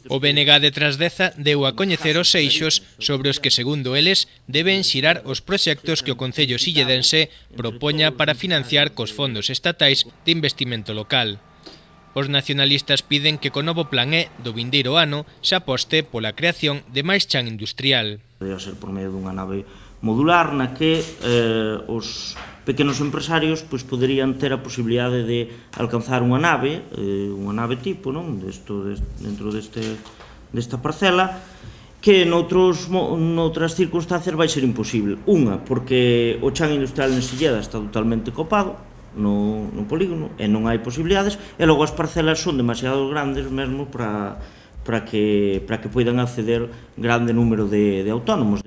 O BNG de Trasdeza deu a coñecer os eixos sobre os que, segundo eles, deben xirar os proxectos que o Concello silledense propoña para financiar cos fondos estatais de investimento local. Os nacionalistas piden que co novo plan E do vindeiro ano se aposte pola creación de máis chan industrial. Podría ser por medio dunha nave modular na que os pequenos empresarios poderían ter a posibilidade de alcanzar unha nave tipo, dentro desta parcela, que noutras circunstancias vai ser imposible. Unha, porque o chan industrial en Silleda está totalmente copado no polígono e non hai posibilidades, e logo as parcelas son demasiado grandes mesmo para que poidan acceder grande número de autónomos.